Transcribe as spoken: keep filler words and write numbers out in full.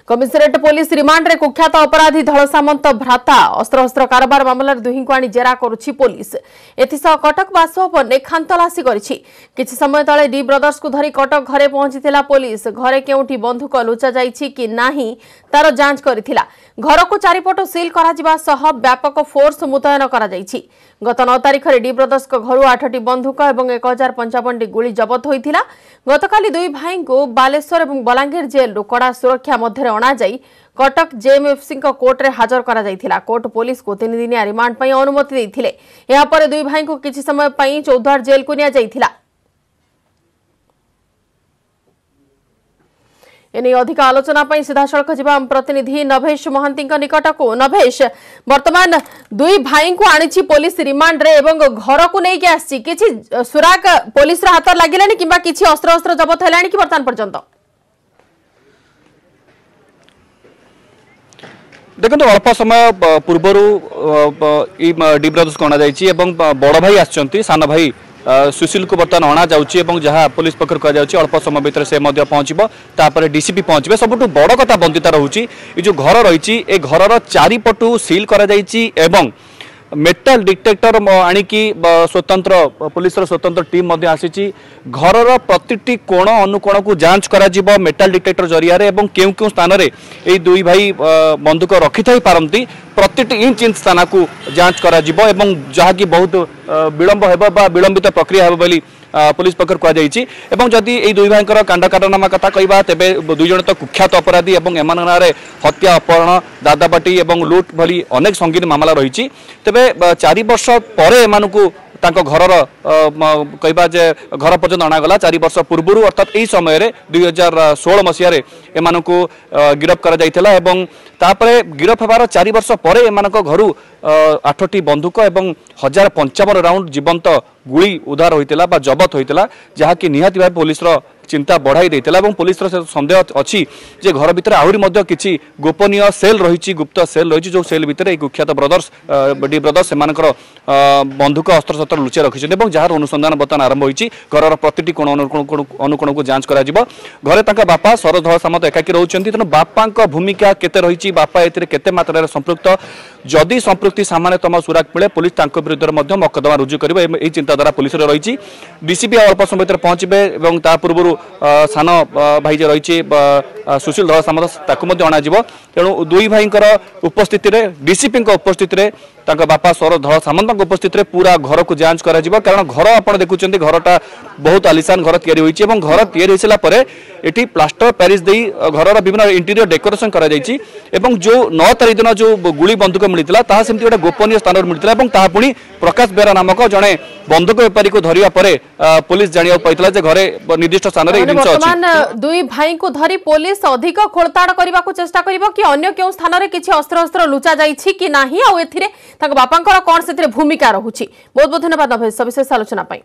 Commissionerate police ରିମାଣ୍ଡରେ କୁଖ୍ୟାତ ଅପରାଧୀ ଧଳ ସାମନ୍ତ ଭ୍ରାତା। ଅସ୍ତ୍ରଶସ୍ତ୍ର କାରବାର ମାମଲାରେ ଦୁହିଁଙ୍କୁ ଆଣି ଜେରା କରୁଛି ପୋଲିସ। ଏଥିସହ କଟକ ବାସଭବନରେ ଖାନତଲାସି କରିଛି। କିଛି ସମୟ ତଳେ ଡି ବ୍ରଦର୍ସକୁ ଧରି କଟକ ଘରେ ପହଞ୍ଚିଥିଲା ପୋଲିସ। ଘରେ କେଉଁଠି ବନ୍ଧୁକ ଲୁଚାଯାଇଛି କି ନାହିଁ ତାର ଯାଞ୍ଚ କରିଥିଲା। ଘରକୁ ଚାରିପଟୁ ସିଲ୍ କରାଯିବା ସହ ବ୍ୟାପକ ଫୋର୍ସ ମୁତୟନ କରାଯାଇଛି। ଗତ ନଅ ତାରିଖରେ ଡି ବ୍ରଦର୍ସଙ୍କ ଘରୁ ଆଠଟି ବନ୍ଧୁକ ଏବଂ ଏକ ହଜାର ପଞ୍ଚାବନଟି ଗୁଳି ଜବତ ହୋଇଥିଲା। ଗତକାଲି ଦୁଇ ଭାଇଙ୍କୁ ବାଲେଶ୍ୱର ଏବଂ ବଲାଙ୍ଗୀର ଜେଲ୍ରୁ କଡ଼ା ସୁରକ୍ଷା ମଧ୍ୟରେ ଅଣାଯାଇ କଟକ ଜେଏମ୍ଏଫ୍ସିଙ୍କ କୋର୍ଟରେ ହାଜର କରାଯାଇଥିଲା। କୋର୍ଟ ପୋଲିସକୁ ତିନିଦିନିଆ ରିମାଣ୍ଡ ପାଇଁ ଅନୁମତି ଦେଇଥିଲେ। ଏହାପରେ ଦୁଇ ଭାଇଙ୍କୁ କିଛି ସମୟ ପାଇଁ ଚୌଦ୍ୱାର ଜେଲ୍କୁ ନିଆଯାଇଥିଲା। ଏନେଇ ଅଧିକ ଆଲୋଚନା ପାଇଁ ସିଧାସଳଖ ଯିବା ଆମ ପ୍ରତିନିଧି ନଭେଶ ମହାନ୍ତିଙ୍କ ନିକଟକୁ। ନଭେଶ, ବର୍ତ୍ତମାନ ଦୁଇ ଭାଇଙ୍କୁ ଆଣିଛି ପୋଲିସ ରିମାଣ୍ଡରେ ଏବଂ ଘରକୁ ନେଇକି ଆସିଛି, କିଛି ସୁରାଗ ପୋଲିସର ହାତରେ ଲାଗିଲାଣି କିମ୍ବା କିଛି ଅସ୍ତ୍ରଶସ୍ତ୍ର ଜବତ ହେଲାଣି କି ବର୍ତ୍ତମାନ ପର୍ଯ୍ୟନ୍ତ? ଦେଖନ୍ତୁ, ଅଳ୍ପ ସମୟ ପୂର୍ବରୁ ଏଇ ଡି ବ୍ରଦର୍ସକୁ ଅଣାଯାଇଛି ଏବଂ ବଡ଼ ଭାଇ ଆସିଛନ୍ତି, ସାନ ଭାଇ ସୁଶୀଲକୁ ବର୍ତ୍ତମାନ ଅଣାଯାଉଛି ଏବଂ ଯାହା ପୋଲିସ ପକ୍ଷରୁ କୁହାଯାଉଛି ଅଳ୍ପ ସମୟ ଭିତରେ ସେ ମଧ୍ୟ ପହଞ୍ଚିବ, ତାପରେ ଡିସିପି ପହଞ୍ଚିବେ। ସବୁଠୁ ବଡ଼ କଥା ବନ୍ଦିତା ରହୁଛି ଏ ଯେଉଁ ଘର ରହିଛି, ଏ ଘରର ଚାରିପଟୁ ସିଲ୍ କରାଯାଇଛି ଏବଂ ମେଟାଲ ଡିଟେକ୍ଟର ଆଣିକି ସ୍ୱତନ୍ତ୍ର ପୋଲିସର ସ୍ୱତନ୍ତ୍ର ଟିମ୍ ମଧ୍ୟ ଆସିଛି। ଘରର ପ୍ରତିଟି କୋଣ ଅନୁକୋଣକୁ ଯାଞ୍ଚ କରାଯିବ ମେଟାଲ ଡିଟେକ୍ଟର ଜରିଆରେ ଏବଂ କେଉଁ କେଉଁ ସ୍ଥାନରେ ଏଇ ଦୁଇ ଭାଇ ବନ୍ଧୁକ ରଖିଥାଇ ପାରନ୍ତି ପ୍ରତିଟି ଇଞ୍ଚ ଇଞ୍ଚ ସ୍ଥାନକୁ ଯାଞ୍ଚ କରାଯିବ ଏବଂ ଯାହାକି ବହୁତ ବିଳମ୍ବ ହେବ ବା ବିଳମ୍ବିତ ପ୍ରକ୍ରିୟା ହେବ ବୋଲି ପୋଲିସ ପକ୍ଷରୁ କୁହାଯାଇଛି। ଏବଂ ଯଦି ଏଇ ଦୁଇ ଭାଇଙ୍କର କାଣ୍ଡ କାରନାମା କଥା କହିବା, ତେବେ ଦୁଇ ଜଣ ତ କୁଖ୍ୟାତ ଅପରାଧୀ ଏବଂ ଏମାନଙ୍କ ନାଁରେ ହତ୍ୟା, ଅପହରଣ, ଦାଦାବାଟି ଏବଂ ଲୁଟ୍ ଭଳି ଅନେକ ସଙ୍ଗୀନ ମାମଲା ରହିଛି। ତେବେ ଚାରି ବର୍ଷ ପରେ ଏମାନଙ୍କୁ ତାଙ୍କ ଘରର କହିବା ଯେ ଘର ପର୍ଯ୍ୟନ୍ତ ଅଣାଗଲା। ଚାରି ବର୍ଷ ପୂର୍ବରୁ ଅର୍ଥାତ୍ ଏହି ସମୟରେ ଦୁଇ ହଜାର ଷୋହଳ ମସିହାରେ ଏମାନଙ୍କୁ ଗିରଫ କରାଯାଇଥିଲା ଏବଂ ତାପରେ ଗିରଫ ହେବାର ଚାରି ବର୍ଷ ପରେ ଏମାନଙ୍କ ଘରୁ ଆଠଟି ବନ୍ଧୁକ ଏବଂ ହଜାର ପଞ୍ଚାବନ ରାଉଣ୍ଡ ଜୀବନ୍ତ ଗୁଳି ଉଦ୍ଧାର ହୋଇଥିଲା ବା ଜବତ ହୋଇଥିଲା, ଯାହାକି ନିହାତି ଭାବେ ପୋଲିସର ଚିନ୍ତା ବଢ଼ାଇ ଦେଇଥିଲା। ଏବଂ ପୋଲିସର ସନ୍ଦେହ ଅଛି ଯେ ଘର ଭିତରେ ଆହୁରି ମଧ୍ୟ କିଛି ଗୋପନୀୟ ସେଲ୍ ରହିଛି, ଗୁପ୍ତ ସେଲ୍ ରହିଛି, ଯେଉଁ ସେଲ୍ ଭିତରେ ଏହି କୁଖ୍ୟାତ ବ୍ରଦର୍ସ ଡି ବ୍ରଦର୍ସ ସେମାନଙ୍କର ବନ୍ଧୁକ ଅସ୍ତ୍ରଶସ୍ତ୍ର ଲୁଚାଇ ରଖିଛନ୍ତି ଏବଂ ଯାହାର ଅନୁସନ୍ଧାନ ବର୍ତ୍ତମାନ ଆରମ୍ଭ ହୋଇଛି। ଘରର ପ୍ରତିଟି କୋଣ ଅନୁକୋଣକୁ ଯାଞ୍ଚ କରାଯିବ। ଘରେ ତାଙ୍କ ବାପା ସରୋଜ ଧଳ ସାମନ୍ତ ଏକାକୀ ରହୁଛନ୍ତି, ତେଣୁ ବାପାଙ୍କ ଭୂମିକା କେତେ ରହିଛି, ବାପା ଏଥିରେ କେତେ ମାତ୍ରାରେ ସମ୍ପୃକ୍ତ, ଯଦି ସମ୍ପୃକ୍ତି ସାମାନ୍ୟତମ ସୁରାକ ମିଳେ ପୋଲିସ ତାଙ୍କ ବିରୁଦ୍ଧରେ ମଧ୍ୟ ମକଦ୍ଦମା ରୁଜୁ କରିବ, ଏହି ଚିନ୍ତାଧାରା ପୋଲିସର ରହିଛି। ଡିସିପି ଅଳ୍ପ ସମୟ ଭିତରେ ପହଞ୍ଚିବେ ଏବଂ ତା ପୂର୍ବରୁ ସାନ ଭାଇ ଯେ ରହିଛି ସୁଶୀଲ ଧଳ ସାମନ୍ତ ତାକୁ ମଧ୍ୟ ଅଣାଯିବ। ତେଣୁ ଦୁଇ ଭାଇଙ୍କର ଉପସ୍ଥିତିରେ, ଡିସିପିଙ୍କ ଉପସ୍ଥିତିରେ, ତାଙ୍କ ବାପା ସରୋଜ ଧଳ ସାମନ୍ତଙ୍କ ଉପସ୍ଥିତିରେ ପୁରା ଘରକୁ ଯାଞ୍ଚ କରାଯିବ। କାରଣ ଘର ଆପଣ ଦେଖୁଛନ୍ତି, ଘରଟା ବହୁତ ଆଲିସାନ ଘର ତିଆରି ହୋଇଛି ଏବଂ ଘର ତିଆରି ହୋଇସାରିଲା ପରେ ଏଠି ପ୍ଲାଷ୍ଟର ପ୍ୟାରିସ୍ ଦେଇ ଘରର ବିଭିନ୍ନ ଇଣ୍ଟେରିୟର ଡେକୋରେସନ କରାଯାଇଛି ଏବଂ ଯେଉଁ ନଅ ତାରିଖ ଦିନ ଯେଉଁ ଗୁଳି ବନ୍ଧୁକ ମିଳିଥିଲା ତାହା ସେମିତି ଗୋଟେ ଗୋପନୀୟ ସ୍ଥାନରୁ ମିଳିଥିଲା ଏବଂ ତାହା ପୁଣି ପ୍ରକାଶ ବେହେରା ନାମକ ଜଣେ ବନ୍ଧୁକ ବେପାରୀକୁ ଧରିବା ପରେ ପୋଲିସ ଜାଣିବାକୁ ପାଇଥିଲା ଯେ ଘରେ ନିର୍ଦ୍ଦିଷ୍ଟ ସ୍ଥାନରେ ଏହି ଜିନିଷ ଅଛି। ବର୍ତ୍ତମାନ ଦୁଇ ଭାଇଙ୍କୁ ଧରି ପୋଲିସ ଅଧିକ ଖୋଳତାଡ଼ କରିବାକୁ ଚେଷ୍ଟା କରିବ କି ଅନ୍ୟ କେଉଁ ସ୍ଥାନରେ କିଛି ଅସ୍ତ୍ରଶସ୍ତ୍ର ଲୁଚା ଯାଇଛି କି ନାହିଁ, ଆଉ ଏଥିରେ ତାଙ୍କ ବାପାଙ୍କର କ'ଣ ସେଥିରେ ଭୂମିକା ରହୁଛି। ବହୁତ ବହୁତ ଧନ୍ୟବାଦ ନଭେଶ ସବିଶେଷ ଆଲୋଚନା ପାଇଁ।